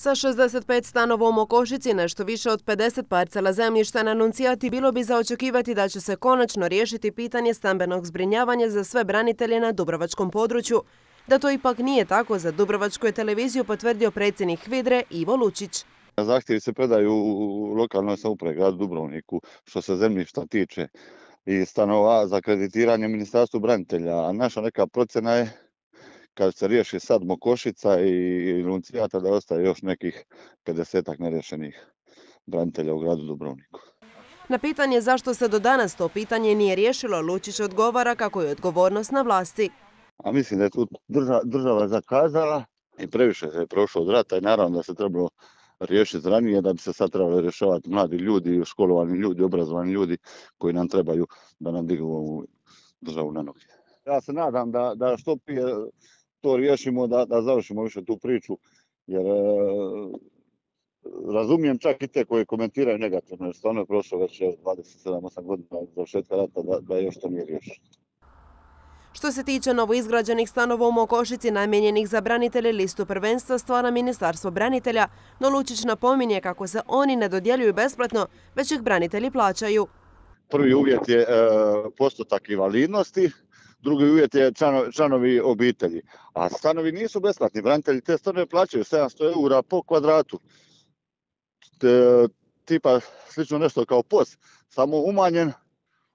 Sa 65 stanova u Mokošici, nešto više od 50 parcela zemljišta na Nuncijati, bilo bi za očekivati da će se konačno riješiti pitanje stambenog zbrinjavanja za sve branitelje na dubrovačkom području. Da to ipak nije tako, za Dubrovačku je televiziju potvrdio predsjednik HVIDRE Ivo Lučić. Zahtjevi se predaju u lokalnoj samoupravi gradu Dubrovniku što se zemljišta tiče i stanova za kreditiranje Ministarstvu branitelja, a naša neka procjena je kad se riješi sad Mokošica i Nuncijata da ostaje još nekih 50-ak neriješenih branitelja u gradu Dubrovniku. Na pitanje zašto se do danas to pitanje nije riješilo, Lučić odgovara kako je odgovornost na vlasti. A mislim da je tu država zakazala i previše je prošlo od rata i naravno da se trebalo riješiti ranije, da bi se sad trebali rješavati mladi ljudi, školovani ljudi, obrazovani ljudi koji nam trebaju da nam dignu ovu državu na noge. Ja se nadam da što prije to riješimo, da završimo više tu priču, jer razumijem čak i te koji komentiraju negativno, jer stvarno je prošlo već 27-8 godina od završetka rata da još to nije riješeno. Što se tiče novoizgrađenih stanova u Mokošici namijenjenih za branitelje, listu prvenstva stvara Ministarstvo branitelja, no Lučić napominje kako se oni ne dodjeljuju besplatno, već ih branitelji plaćaju. Prvi uvjet je postotak invalidnosti, drugi uvjet je članovi obitelji. A stanovi nisu besplatni, branitelji te stanove plaćaju 700 € po kvadratu. Tipa slično nešto kao POS, samo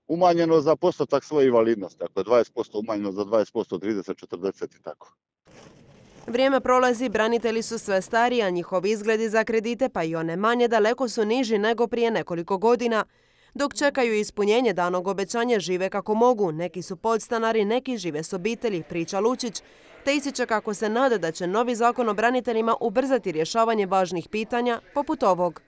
umanjeno za postotak svoje invalidnosti. Ako je 20% umanjeno za 20%, 30, 40 i tako. Vrijeme prolazi, branitelji su sve stariji, a njihovi izgledi za kredite, pa i one manje, daleko su niži nego prije nekoliko godina. Dok čekaju ispunjenje danog obećanja, žive kako mogu. Neki su podstanari, neki žive s obitelji, priča Lučić, te ističe kako se nada da će novi zakon o braniteljima ubrzati rješavanje važnih pitanja poput ovog.